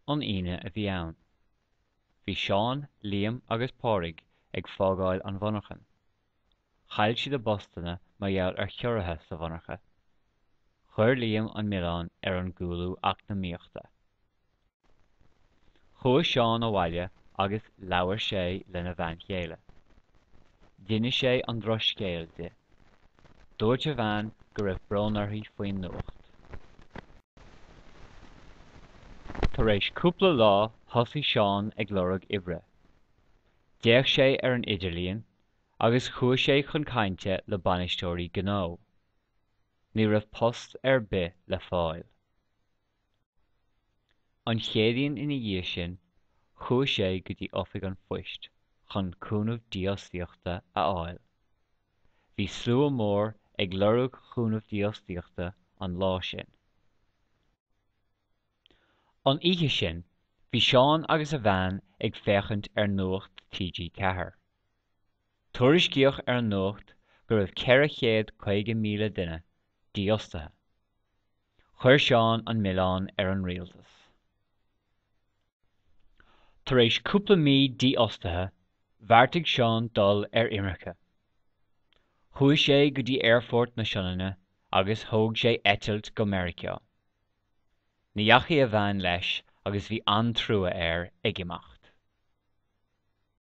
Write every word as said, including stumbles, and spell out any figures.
An Aoine a bhí ann. Bhí Seán, Liam agus Pádraig ag fágáil an mhonarchan. Chaill siad a bpostanna mar gheall ar chiorruithe sa mhonarcha. Chuir Liam an milleán ar an gcúlú eacnamaíochta. Chuaigh Seán abhaile agus labhair sé lena bhean chéile. D'inis sé an drochscéal di. Dúirt a bhean go raibh brón uirthi faoin nuacht. Tar éis cúpla lá thosaigh Seán ag lorg oibre. D'fhéach sé ar an idirlíon agus chuaigh sé chun cainte le bainisteoirí gnó. Ní raibh post ar bith le fáil. An Chéadaoin ina dhiaidh sin, chuaigh sé go dtí oifig an phoist chun cúnamh dífhostaíochta a fháil. Bhí slua mór ag lorg cúnamh dífhostaíochta an lá sin. An oíche sin, bhí Seán agus a bhean ag féachaint ar Nuacht TG Ceathair. Tuairiscíodh ar an nuacht go raibh ceithre chéad caoga míle duine dífhostaithe. Chuir Seán an milleán ar an rialtas. Tar éis cúpla mí dífhostaithe, bheartaigh Seán dul ar imirce. Chuaigh sé go dtí Aerfort na Sionainne agus thóg sé eitilt go Meiriceá. Ní dheachaigh a bhean leis agus bhí an-trua air ag imeacht.